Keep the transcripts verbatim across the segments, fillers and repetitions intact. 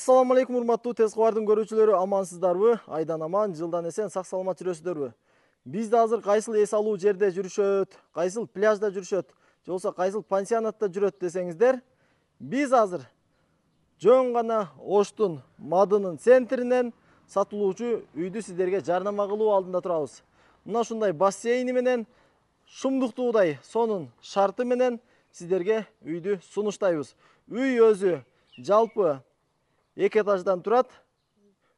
Assalamu alaikum урматтуу тез кабардын көрүүчүлөрү, амансыздарбы? Айдан аман, жылдан эсен, сак саламат жүрөсүздөрбү? Биз да азыр кайсыл эс алуу жерде жүрүшөт, кайсыл пляжда жүрүшөт, же болбосо кайсыл пансионатта жүрөт десеңиздер, биз азыр жөн гана Оштун Мадынын центринен сатылуучу үйдү сиздерге жарнама кылуу алдында турабыз. Мына ушундай бассейни менен, шумдуктуудай сонун шарты менен сиздерге үйдү сунуштайбыз. Үй өзү жалпы эки этаждан турат,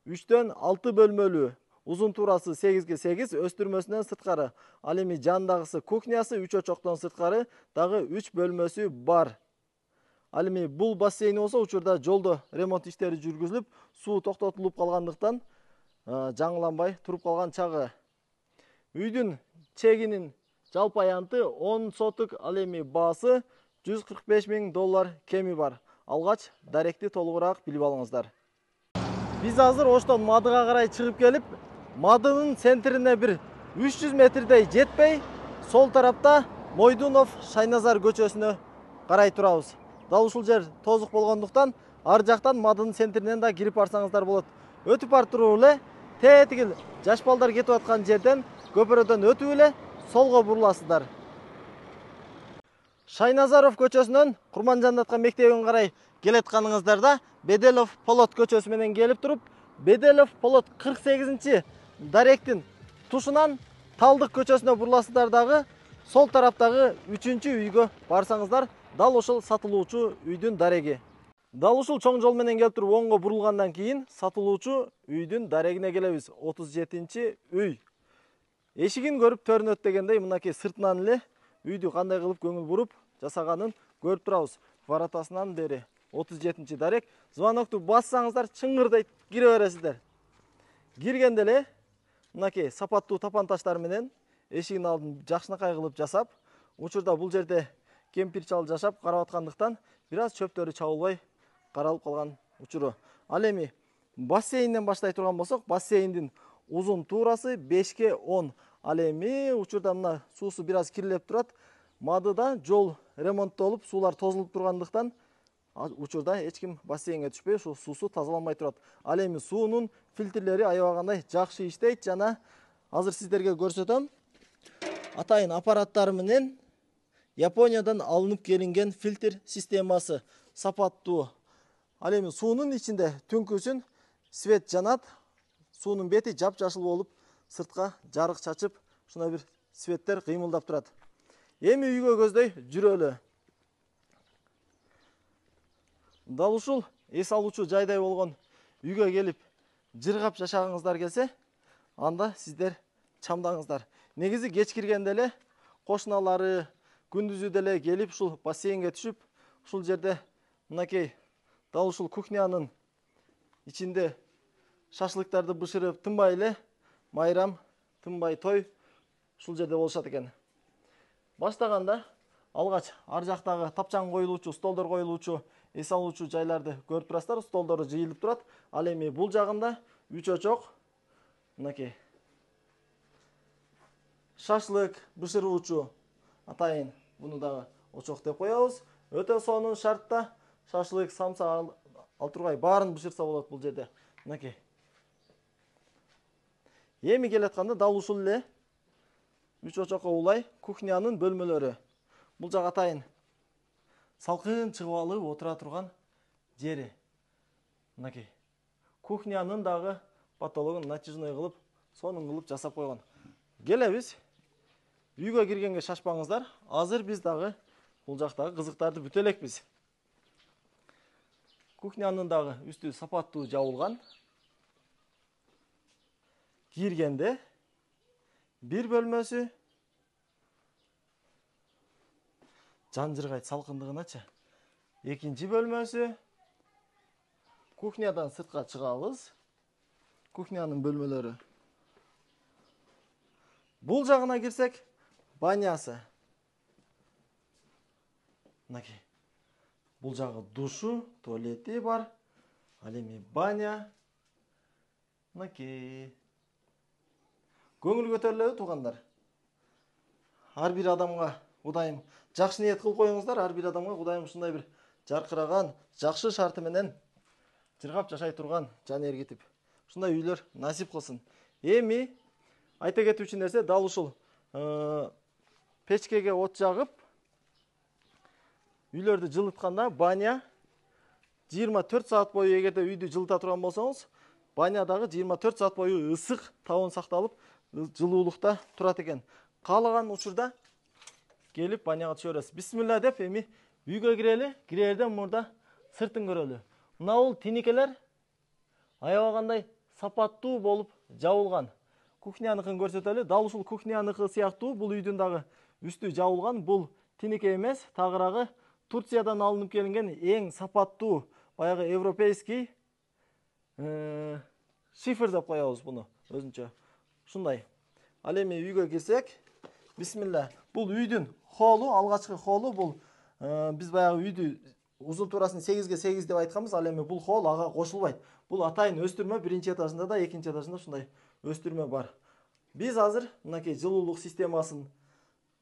үчтөн алты бөлмөлүү, узун туурасы сегизге сегиз, өстүрмөсүнөн сырткары. Ал эми жандагысы кухнясы, үч очоктон сырткары дагы үч бөлмөсү бар. Ал эми бул бассейн болсо учурда жолдо ремонт иштери жүргүзүлүп, суу токтотулуп калгандыктан жаңыланбай туруп калган чагы. Үйдүн чегинин жалпы аянты он сотук, ал эми баасы жүз кырк беш миң доллар кеми бар. Алгач даректи толугураак билип алыңыздар. Биз азыр Оштон Мадыга карай чыгып келип, Мадынын центрине бир үч жүз метрдей жетпей, сол тарапта Мойдунов Шайназар көчөсүнө карай турабыз. Дал ушул жер тозук болгондуктан, ар жактан Мадынын центринен да кирип барсаңыздар болот. Өтүп бар туруп эле, тетигил жаш балдар кетип аткан жерден көпүрөдөн өтүп эле солго буруласыздар. Шайназаров көчөсүнөн Курманжандатка мектебине карай келатканыңыздарда Беделов Полот көчөсү менен келип туруп, Беделов Полот кырк сегизинчи даректин тушунан Талдык көчөсүнө буруласыздар дагы, сол тараптагы үчүнчү үйгө барсаңыздар, дал ошол сатылуучу үйдүн дареги. Дал ушул чоң жол менен келип туруп оңго бурулгандан кийин сатылуучу үйдүн дарегине келебиз. отуз жетинчи үй. Эшигин көрүп төрүнөт дегендей, мынакей сыртынан эле үйдү кандай кылып көңүл буруп жасаганын көрүп турабыз. Воротасынан бери отуз жетинчи дарек. Звонокту бассаңыздар чыңгырдайт кире бересиздер. Киргенде эле мынакей сапаттуу тапан таштар менен эшигин алдын жакшынакай кылып жасап, учурда бул жерде кемпир чал жашап карап аткандыктан бир аз чөптөрү чабылбай каралып калган учуру. Ал эми бассейнден баштай турган болсок, бассейндин узун туурасы бешке он. Ал эми учурда мына суусу бир аз кирилеп турат. Мадыда жол ремонттолуп, суулар тозулуп тургандыктан учурда эч ким бассейнге түшпөй, ушул суусу тазаланбай турат. Ал эми суунун фильтрлери аябагандай жакшы иштейт жана азыр сиздерге көрсөтөм. Атайын аппараттары менен Япониядан алынып келинген фильтр системасы сапаттуу. Ал эми суунун ичинде түнкүсүн свет жанат, суунун бети жапжашыл болуп, сыртка жарык чачып, ушундай бир светтер кыймылдап турат. Эми үйгө көздөй жүрөлү. Дал ушул эс алуучу жайдай болгон үйгө келип жыргап жашагыңыздар келсе, анда сиздер чамдаңыздар. Негизи кеч киргенде эле кошуналары күндүзү деле келип ушул бассейнге түшүп, ушул жерде мынакей дал ушул кухнянын ичинде шашлыктарды бышырып, тынбай эле майрам, тынбай той ушул жерде болушат экен. Баштаганда алгач ар жактагы тапчаң коюлуучу, столдор коюлуучу, эс алуучу жайларды көрүп турасыздар, столдору жыйылып турат. Ал эми бул жагында үч очок, мынакей шашлык бышыруучу атайын, буну дагы очок деп коебуз. Өтө сонун шартта шашлык, самса, алтургай баарын бышырса болот бул жерде. Мынакей. Эми келатканда дал ушул эле үч очокко улай кухнянын бөлмөлөрү. Бул жак атайын салкын чыгып алып отура турган жери. Мынакей. Кухнянын дагы потологун натяжной кылып, сонун кылып жасап койгон. Келебиз. Үйгө киргенге шашпаңыздар. Азыр биз дагы бул жактагы кызыктарды бүтө элекпиз. Кухнянын дагы үстү сапаттуу жабылган. Киргенде бир бөлмөсү жан жыргайт салкындыгыначы. Экинчи бөлмөсү. Кухнядан сыртка чыгабыз. Кухнянын бөлмөлөрү. Бул жагына кирсек, банясы. Мынакей. Бул жагы душу, туалети бар. Ал эми баня. Мынакей. Көңүл көтөрүлөбү туугандар? Ар бир адамга Кудайым жакшы ниет кылып коюңуздар, ар бир адамга Кудайым ушундай бир жаркыраган, жакшы шарты менен жыргап жашай турган жан эргитип ушундай үйлөр насип кылсын. Эми айта кетүүчү нерсе дал ушул печкеге от жагып үйлөрдү жылытканда баня жыйырма төрт саат бою эгерде үйдү жылыта турган болсоңуз, банядагы жыйырма төрт саат бою ысык табын сакталып, жылуулукта турат экен. Каалаган учурда келип баняга түшө бересиз. Бисмилла деп эми үйгө кирели, кирерден мурда сыртын көрөлү. Мына бул тиникелер аябагандай сапаттуу болуп жабылган. Кухняныкын көрсөтөлү. Дал ушул кухняныкы сыяктуу бул үйдүн дагы үстү жабылган. Бул тинике эмес, тагыраагы Турциядан алынып келинген эң сапаттуу баягы европейский шифр деп коебуз буну өзүнчө. Ушундай. Ал эми үйгө кирсек, бисмилла. Бул үйдүн холу, алгачкы холу бул биз баягы үйдү узун туурасын сегизге сегиз деп айтканбыз. Ал эми бул хол ага кошулбайт. Бул атайын өстүрмө, биринчи этажында да, экинчи этажында ушундай өстүрмө бар. Биз азыр мынакей жылуулук системасын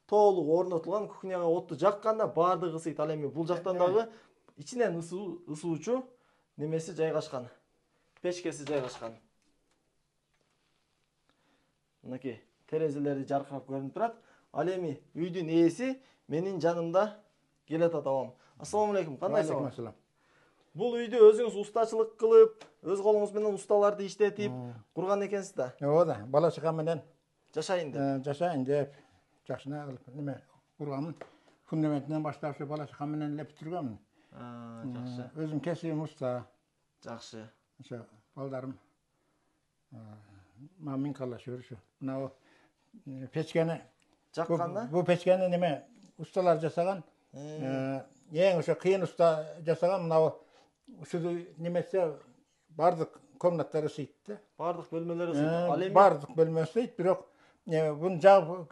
толук орнотулган, кухняга отту жакканда баардыгы ысыйт. Ал эми бул жактан дагы ичинен ысуучу немеси жайгашкан. Печкеси жайгашкан. Мынакей терезелери жаркырап көрүнүп турат. Ал эми үйдүн ээси менин жанымда келет атабам. Ассаламу алейкум. Кандайсыз? Бул үйдү өзүңүз устачылык кылып, өз колуңуз менен усталарды иштетип курган экенсиз да? Ооба, бала чака менен жашайын деп. Жашайын деп жакшына кылып неме курганмын. Фундаментинен баштап ушу бала чака менен эле бүтүргөнмүн. А, жакшы. Өзүм кесибим уста. Жакшы. Ошо балдарым мамин калашыр ушу. Мына печкени жакканда? Бу печкени неме усталар жасаган. Эң ошо кыйын уста жасаган. Мына ушул немесе бардык комнаттар ысыйт да. Бардык бөлмөлөр ысыйт. Ал эми бардык бөлмө ысыйт, бирок буну жагып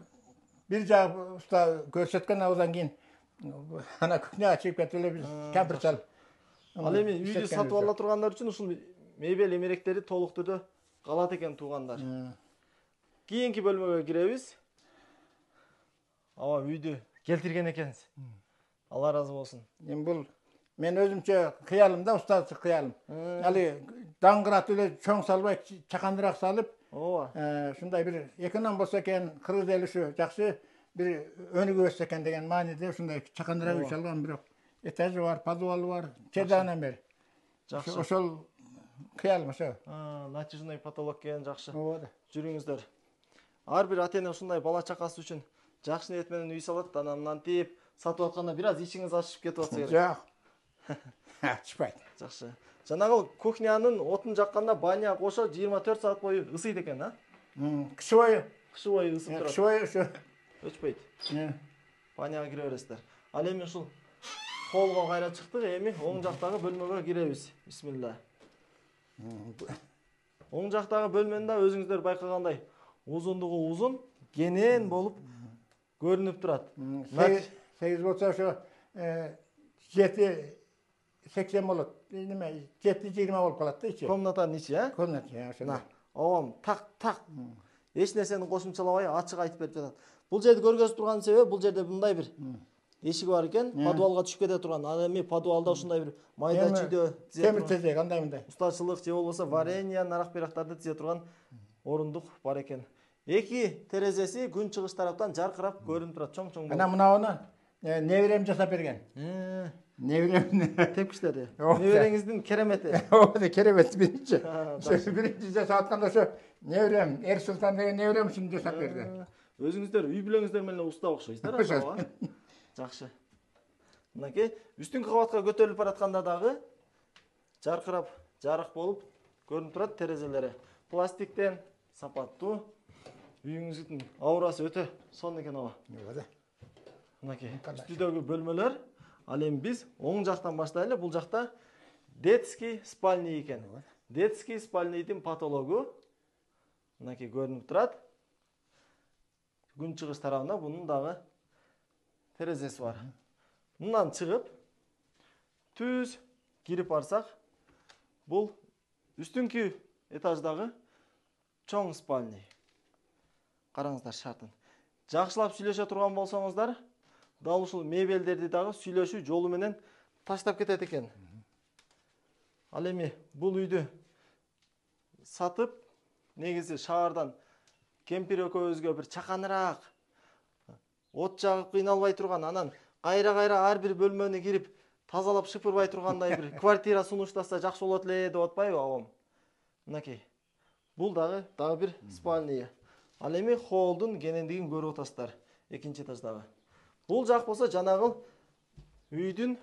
бир жагып уста көрсөткөн абдан кийин ана кухняга чыгып кетип эле биз кампир салып. Ал эми үйдү сатып ала тургандар үчүн ушул мебель эмеректери толук түрдө калат экен туугандар. Кийинки бөлмөгө киребиз. Аба үйдү келтирген экенсиз. Алла разы болсун. Эми бул мен өзүмчө кыялымда, устачы кыялым. Али даңгырат эле чоң салбай, чакандыраак салып, ооба. Ушундай бир экинен болсо экен, кыргыз эли ушу жакшы бир өнүгүп өссө экен деген мааниде ушундай чакандыраак үй салган, бирок этажы бар, подвалы бар, чедагынан бери. Жакшы. Ошол кыялым ошо. Натяжный потолок экен, жакшы. Ооба. Жүрүңүздөр. Ар бир ата эне ушундай бала чакасы үчүн жакшы ниет менен үй салат, анан мынтип сатып атканда бир аз ичиңиз ачышып кетип атса керек. Жок. Ачпайт. Жакшы. Жанагы кухнянын отун жакканда баня кошо жыйырма төрт саат бою ысыйт экен, а? Кышы бою. Кышы бою ысып турат. Кышы бою ушу өчпөйт. Баняга кире бересиздер. Ал эми ушул холго кайра чыктык, эми оң жактагы бөлмөгө киребиз. Бисмилла. Оң жактагы бөлмөнү да өзүңүздөр байкагандай узундугу узун, кенен болуп көрүнүп турат. сегиз болсо ошо жети сексен болот. Неме жети жыйырма болуп калат да ичи. Комнатанын ичи, э? Комната, ошо. Оом так так. Эч нерсени кошумчалабай ачык айтып берип жатат. Бул жерди көргөзүп турган себеби, бул жерде мындай бир эшиги бар экен, подвалга түшүп кете турган. Ал эми подвалда ушундай бир майда чүйдө темир тезек андай мындай. Устачылык же болбосо варенье, нарак-берактарды тизе турган орундук бар экен. Эки терезеси күн чыгыш тараптан жаркырап көрүнүп турат, чоң-чоң болуп. Ана мынауну неберем жасап берген. Неберем тепкичтери. Небереңиздин керемети. Ооба, керемет биринчи. Биринчи жасап атканда ошо неберем, Эр Султан деген неберем ушуну жасап берди. Өзүңүздөр үй бүлөңүздөр менен уста окшойсуздар, ооба. Жакшы. Мынакей үстүнкү кабатка көтөрүлүп баратканда дагы жаркырап, жарык болуп көрүнүп турат терезелери. Пластиктен сапаттуу. Үйүңүздүн аурасы өтө сонун экен, ооба. Ооба. Мынакей үстүдөгү бөлмөлөр. Ал эми биз оң жактан баштайлы. Бул жакта детский спальня экен. Детский спальныйдын потологу мынакей көрүнүп турат. Күн чыгыш тарабында бунун дагы терезеси бар. Мындан чыгып түз кирип барсак, бул үстүнкү этаждагы чоң спальня. Караңыздар шартын. Жакшылап сүйлөшө турган болсоңуздар, дал ушул мебелдерди дагы сүйлөшүү жолу менен таштап кетет экен. Ал эми бул үйдү сатып, негизи шаардан кемпир экөөбүзгө бир чаканыраак, от жагып кыйналбай турган, анан кайра-кайра ар бир бөлмөнү кирип тазалап шыпырбай тургандай бир квартира сунуштаса жакшы болот эле деп атпайбы абам? Мынакей. Бул дагы дагы бир спальня. Ал эми холлдун кенендигин көрүп атасыздар, экинчи этаждагы. Бул жак болсо жанагы үйдүн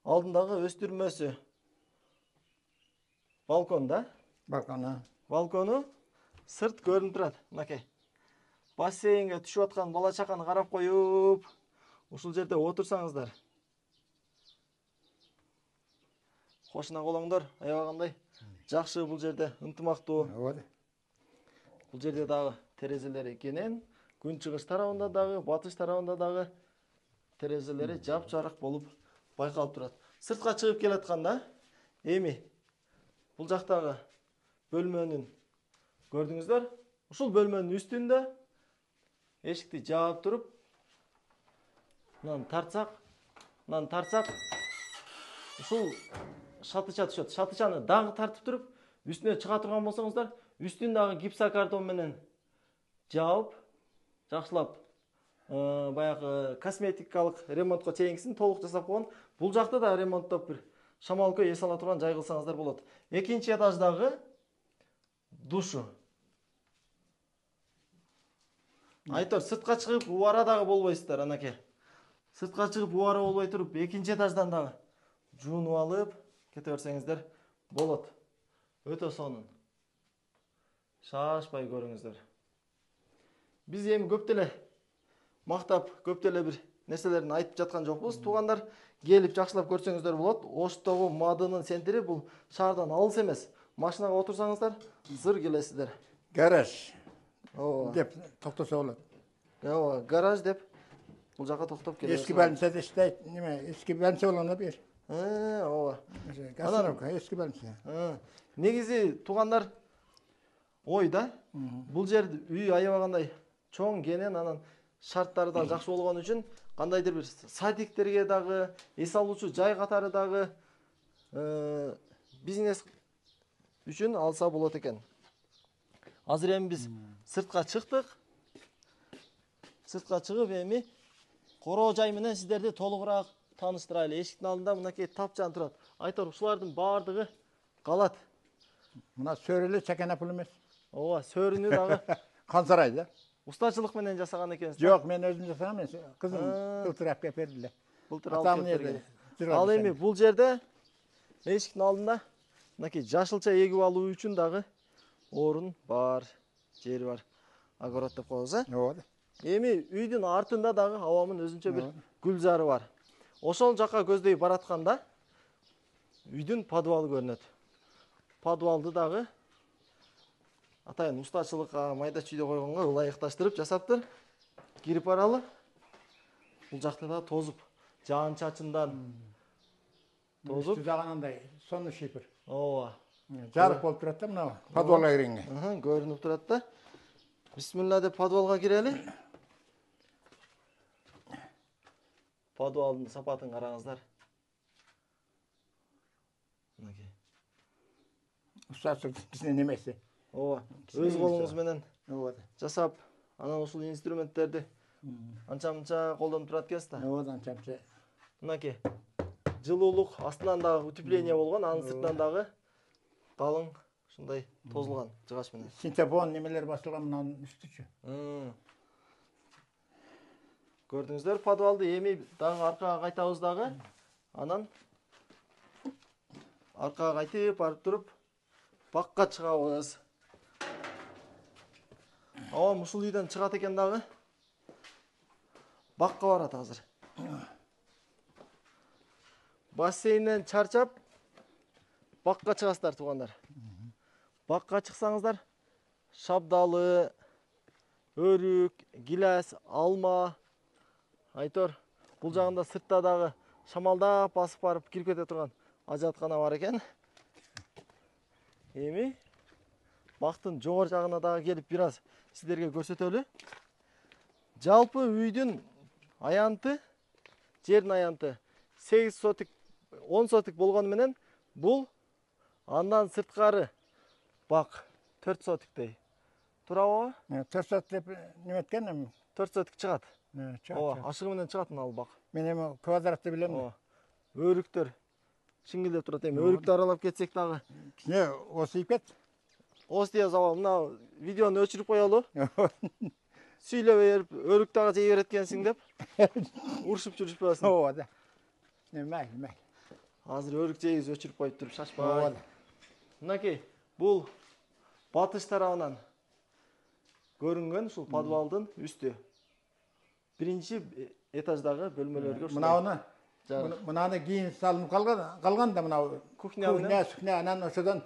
алдындагы өстүрмөсү. Балкон да? Балкона. Балкону сырт көрүнүп турат. Мынакей. Бассейнге түшүп аткан бала чаканы карап коюп, ушул жерде отурсаңыздар. Кошуна колоңдор, аябагандай жакшы бул жерде, ынтымактуу. Ооба. Бул жерде дагы терезелери кенен, күн чыгыш тарабында дагы, батыш тарабында дагы терезелери жап-жарык болуп байкалып турат. Сыртка чыгып келатканда, эми бул жактагы бөлмөнүн көрдүңүздөр? Ушул бөлмөнүн үстүндө эшикти жаап туруп, мынаны тартсак, мынаны тартсак, ушул шатыча түшөт. Шатычаны дагы тартып туруп, үстүнө чыга турган болсоңуздар, үстүн дагы гипсокартон менен жаап, жакшылап, баягы косметикалык ремонтко чейинкисин толук жасап койгон. Бул жакта да ремонттоп бир шамалкы эс ала турган жай кылсаңыздар болот. Экинчи этаждагы душу. Айтор, сыртка чыгып убара дагы болбойсуздар, анакей. Сыртка чыгып убара болбой туруп, экинчи этаждан дагы жуунуп алып кете берсеңиздер болот. Өтө сонун. Шашпай көрүңүздөр. Биз эми көп деле мактап, көп деле бир нерселерин айтып жаткан жокпуз. Туугандар, келип жакшылап көрсөңүздөр болот. Оштогу Мадынын центри бул шаардан алыс эмес. Машинага отурсаңыздар, зыр келесиздер. Гараж. Ооба. Деп токтосо болот. Ооба, гараж деп бул жака токтоп келесиз. Эски больницада иштейт, неме, эски больница болгондо бир. Э, ооба. Гасновка, эски больница. Негизи туугандар, ой да, бул жер үй аябагандай чоң кенен, анан шарттары да жакшы болгон үчүн кандайдыр бир садиктерге дагы, эс алуучу жай катары дагы бизнес үчүн алса болот экен. Азыр эми биз сыртка чыктык. Сыртка чыгып эми короо жай менен сиздерди толугураак тааныштырайлы. Эшиктин алдында мынакей тапчан турат. Айтор, ушулардын баардыгы калат. Мына сөреле чакана пул эмес. Ооба, сөрүнү дагы Хан сарай да. устачылык менен жасаган экенсиз. Жок, мен өзүм жасагам, мен кызым былтыр алып келип берди эле. Былтыр алып келип берген. Ал эми бул жерде эшиктин алдында мынакей жашылча эгип алуу үчүн дагы орун бар, жери бар. Огород деп коебуз, э? Ооба. Эми үйдүн артында дагы абамын өзүнчө бир гүлзары бар. Ошол жака көздөй баратканда үйдүн подвалы көрүнөт. Подвалды дагы атайын устачылыкка, майда чүйдө койгонго ылайыкташтырып жасаптыр. Кирип баралы. Бул жакта да тозуп, жаан чачындан тозуп, жагынандай сонун шипир. Ооба. Жарык болуп турат да мына подвалга киргенге. Ага, көрүнүп турат да. Бисмилла деп подвалга кирели. Подвалдын сапатын караңыздар. Мынакей. Устачылык биздин немеси. Ооба. Өз колуңуз менен Ооба. жасап, анан ушул инструменттерди анча-мынча колдонуп турат экенсиз да. Ооба, анча-мынча. Мынакей. Жылуулук астынан дагы утепление болгон, анын сыртынан дагы калың ушундай тозулган жыгач менен. Синтепон немелер басылган мынанын үстүчү. Көрдүңүздөр подвалды. Эми дагы аркага кайтабыз дагы. Анан аркага кайтып барып туруп бакка чыгабыз. Абам ушул үйдөн чыгат экен дагы. Бакка барат азыр. Бассейнден чарчап бакка чыгасыздар туугандар. Бакка чыксаңыздар, шабдалы, өрүк, гилас, алма, айтор, бул жагында сыртта дагы шамалдап басып барып кирип кете турган ажаткана бар экен. Эми бактын жогору жагына дагы келип бир аз сиздерге көрсөтөлү. Жалпы үйдүн аянты, жердин аянты сегиз сотик, он сотик болгону менен бул Андан сырткары бак төрт сотиктей. Туурабы? төрт сот деп неметкен эми. төрт сотик чыгат. Чыгат. Ооба, ашыгы менен чыгат ал бак. Мен эми квадратты билем. Ооба. Өрүктөр шиңгилдеп турат эми. Өрүктү аралап кетсек дагы. Не, осыйып кет. Ос дия зава, мына видеону өчүрүп коелу. Сүйлөп берип, өрүк дагы жей берет экенсиң деп. Урушуп жүрүшпөсүн. Ооба да. Не, май, май. Азыр өрүк жейбиз өчүрүп коюп туруп шашпай. Ооба да. Мынакей, бул батыш тарабынан көрүнгөн ушул подвалдын үстү. Биринчи этаждагы бөлмөлөргө ушул. Мынауны, мынаны кийин салынып калган, калган да мынау. Кухня менен. Кухня, сухня, анан ошодон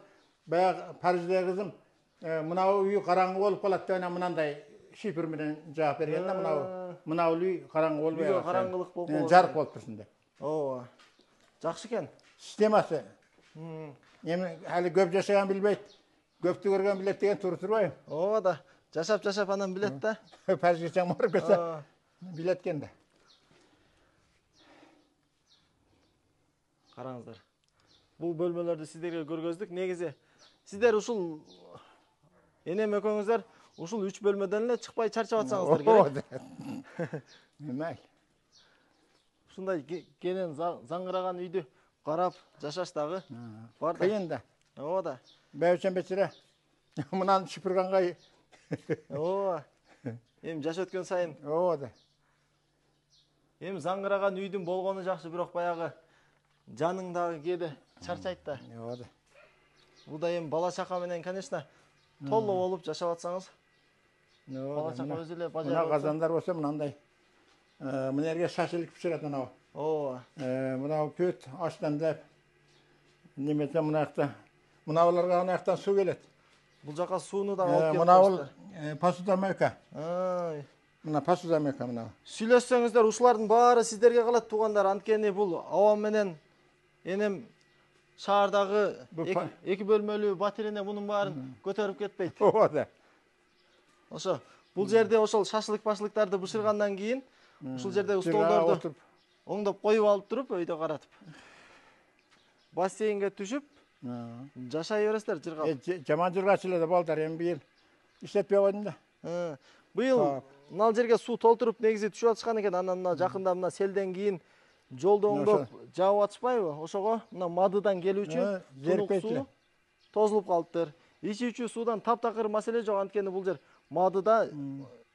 баягы Парижде кызым, мынау үй караңгы болуп калат деп анан мынандай шифр менен жаап берген да, мынау. Мынау үй караңгы болбой. Үйгө караңгылык болуп калат. Жарык болуп турсун деп. Ооба. Жакшы экен. Системасы. Эми али көп жашаган билбейт. Көптү көргөн билет деген туура турбайбы? Ооба да. Жашап жашап анан билет да. Парижге чаң барып кетсе билет экен да. Караңыздар. Бул бөлмөлөрдү сиздерге көргөздүк. Негизи сиздер ушул энем экөөңүздөр ушул үч бөлмөдөн эле чыкпай чарчап атсаңыздар керек. Немай. Ушундай кенен заңгыраган үйдү карап жашаш дагы бар да. Кыйын да. Ооба да. Бәйбичем бечере мынаны шыпырганга. Ооба. Эми жаш өткөн сайын. Ооба да. Эми заңгыраган үйдүн болгону жакшы, бирок баягы жаның дагы кээде чарчайт да. Ооба да. Бул да эми бала чака менен, конечно, толло болуп жашап атсаңыз. Бала чака өзү эле бажар. Мына казандар болсо мынандай. Мына жерге шашылып пиширет мынау. Ооба. Мынау пөт аштан деп. Немесе мына жакта. Мынауларга ана жактан суу келет. Бул жака сууну дагы алып келип Мынау посудомойка. Ай. Мына посудомойка мынау. Сүйлөшсөңүздөр ушулардын баары сиздерге калат, туугандар. Анткени бул абам менен энем шаардагы эки бөлмөлүү батирене мунун баарын көтөрүп кетпейт. Ооба да. Ошо бул жерде ошол шашлык-башлыктарды бышыргандан кийин ушул жердеги столдорду оңдоп коюп алып туруп өйдө каратып. Бассейнге түшүп жашай бересиздер жыргап. Жаман жыргачу эле да балдар, эми быйыл иштетпей койдум да. Быйыл мына жерге суу толтуруп негизи түшүп атышкан экен. Анан мына жакында мына селден кийин жолду оңдоп жаап атышпайбы? Ошого мына мадыдан келүүчү суу тозулуп калыптыр. Ичүүчү суудан таптакыр маселе жок, анткени бул жер мадыда,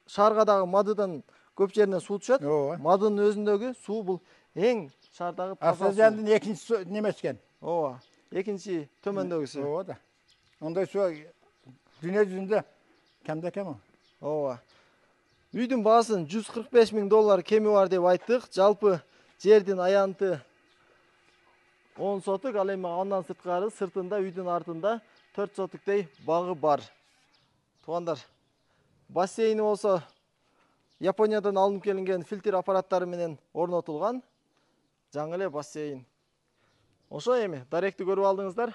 шаарга дагы мадыдан көп жеринен суу түшөт. Мадынын өзүндөгү суу бул эң шаардагы таза суу. Асажандын экинчи немеси экен. Ооба. Экинчи төмөндөгүсү. Ооба да. Ондай суу дүйнө жүзүндө кемде кем. Ооба. Үйдүн баасын жүз кырк беш миң доллар кеми бар деп айттык. Жалпы жердин аянты он сотук, ал эми андан сырткары сыртында үйдүн артында төрт сотуктей багы бар. Туугандар, бассейни болсо Япониядан алынып келинген фильтр аппараттары менен орнотулган. Жаңы эле бассейн. Ошо эми даректи көрүп алдыңыздар.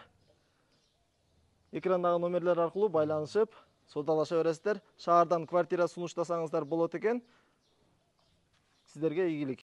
Экрандагы номерлер аркылуу байланышып, саудалаша бересиздер. Шаардан квартира сунуштасаңыздар болот экен. Сиздерге ийгилик.